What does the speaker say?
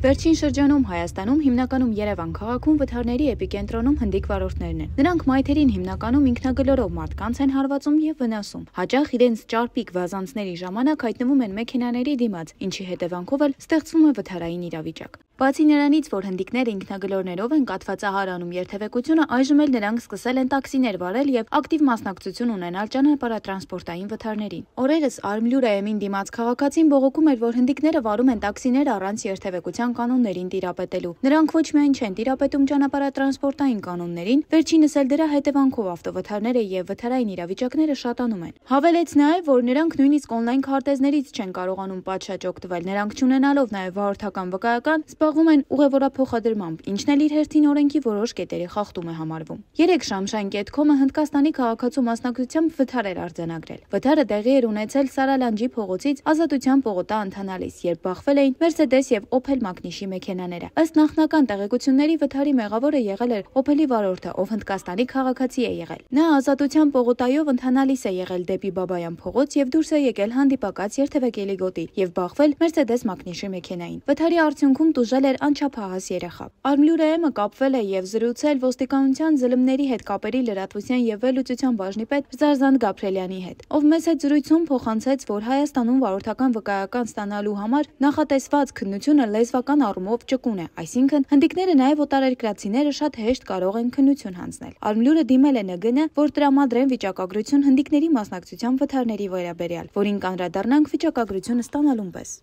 Վերջին շրջանում Հայաստանում հիմնականում Երևան քաղաքում վթարների էպիկենտրոնում հնդիկ վարորդներն են։ Նրանք մայթերին հիմնականում ինքնագլորով մարդկանց են հարվածում եւ վնասում։ Հաճախ իրենց ճարպիկ վազանցների ժամանակ հայտնվում են մեքենաների դիմաց, ինչի հետևանքով էլ ստեղծվում է վթարային իրավիճակ։ Բացի նրանից, որ հնդիկները ինքնագլորներով են կաթվածահար անում երթևեկությունը, այժմ էլ նրանք սկսել են տաքսիներ վարել եւ ակտիվ մասնակցություն ունենալ ճանապարհատրանսպորտային վթարներին։ Օրերս Արմլյուրայեմին դիմաց քաղաքացին բողոքում էր, որ հնդիկները վարում են տաքսիներ առանց երթևեկության կանոններին տիրապետելու։ Նրանք ոչ միայն չեն տիրապետում ճանապարհատրանսպորտային կանոններին, վերջինս էլ դրա հետևանքով ավտովթարները եւ վթարային իրավիճակները շատանում են։ Հավելեց նաեւ, որ նրանք նույնիսկ օնլայն քարտեզներից չեն կարողանում պատշաճ օգտվել, նրանք չունենալով նաեւ վարորդական վկայական զբաղվում են ուղևորափոխադրմամբ, ինչն էլ իր հերթին օրենքի որոշ կետերի խախտում է համարվում։ 3 Շամշայն.com-ը Հնդկաստանի քաղաքացու մասնակցությամբ վթար էր արձանագրել։ Վթարը տեղի էր ունեցել Սարալանջի փողոցից Ազատության պողոտա ընթանալիս, երբ բախվել էին Mercedes եւ Opel Magnish-ի մեքենաները։ Ըստ նախնական տեղեկությունների վթարի մեղավորը եղել էր Opel-ի վարորդը, ով Հնդկաստանի քաղաքացի է եղել։ Նա Ազատության պողոտայով ընթանալիս է եղել դեպի Բաբայան փողոց եւ դուրս է եկել հանդիպակաց երթևեկելի գոտի եւ բախվել Mercedes Magnish-ի մեքենային։ Վթարի արդյունքում տուժել էր անչափահաս երեխա։ Արմլյուրայեմը կապվել է եւ զրուցել ոստիկանության ԶԼՄ-ների հետ կապերի լրատվության եւ վերլուծության բաժնի պետ Զարզանտ Գաբրելյանի հետ, ով մեծ հետ զրույցում փոխանցեց, որ Հայաստանում վարորդական վկայական ստանալու համար նախատեսված քննությունը լեզվական առումով ճկուն է, այսինքն հնդիկները նաեւ օտարերկրացիները շատ հեշտ կարող են քննություն հանձնել։ Արմլյուրը դիմել է ՆԳՆ, որ տրամադրեն վիճակագրություն հնդիկների մասնակցության վթարների վերաբերյալ, որին կանդրադառնանք վիճակագրությունը ստանալուն պես։